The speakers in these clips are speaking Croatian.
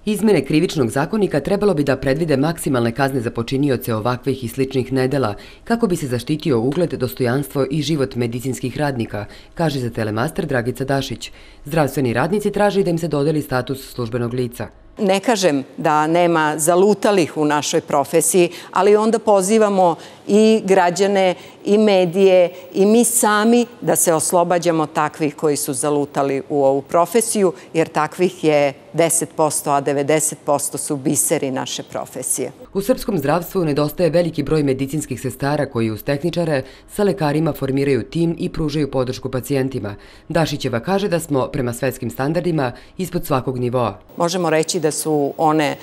Izmene krivičnog zakonika trebalo bi da predvide maksimalne kazne za počinioce ovakvih i sličnih nedela, kako bi se zaštitio ugled, dostojanstvo i život medicinskih radnika, kaže za Telemaster Dragica Dašić. Zdravstveni radnici traže da im se dodeli status službenog lica. Ne kažem da nema zalutalih u našoj profesiji, ali onda pozivamo i građane, i medije, i mi sami da se oslobađamo takvih koji su zalutali u ovu profesiju, jer takvih je 10%, a 90% su biseri naše profesije. U srpskom zdravstvu nedostaje veliki broj medicinskih sestara koji uz tehničare sa lekarima formiraju tim i pružaju podršku pacijentima. Dašićeva kaže da smo prema svetskim standardima ispod svakog nivoa. Možemo reći da su one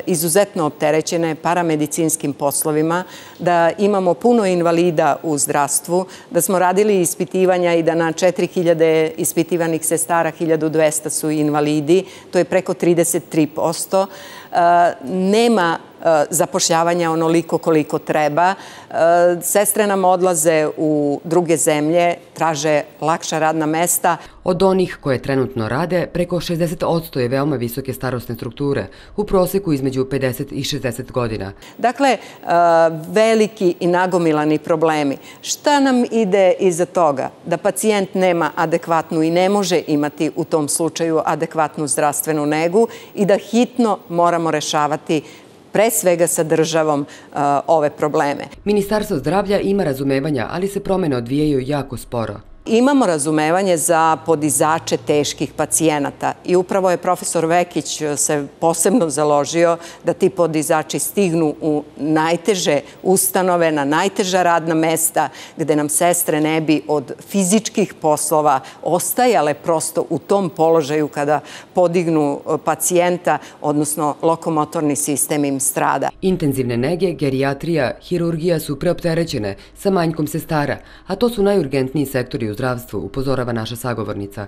izuzetno opterećene paramedicinskim poslovima, da imamo puno invalida u zdravstvu, da smo radili ispitivanja i da na 4000 ispitivanih sestara 1200 su invalidi, to je preko 33%. Nema zapošljavanja onoliko koliko treba. Sestre nam odlaze u druge zemlje, traže lakša radna mesta. Od onih koje trenutno rade, preko 60% je veoma visoke starosne strukture, u proseku između 50 i 60 godina. Dakle, veliki i nagomilani problemi. Šta nam ide iza toga? Da pacijent nema adekvatnu i ne može imati u tom slučaju adekvatnu zdravstvenu negu i da hitno moramo rešavati pre svega sa državom ove probleme. Ministarstvo zdravlja ima razumevanja, ali se promene odvijaju jako sporo. Imamo razumevanje za podizače teških pacijenata i upravo je profesor Vekić se posebno založio da ti podizači stignu u najteže ustanove, na najteža radna mesta, gde nam sestre ne bi od fizičkih poslova ostajale prosto u tom položaju kada podignu pacijenta, odnosno lokomotorni sistem im strada. Intenzivne nege, gerijatrija, hirurgija su preopterećene sa manjkom sestara, a to su najurgentniji sektori u zdravstvu, upozorava naša sagovornica.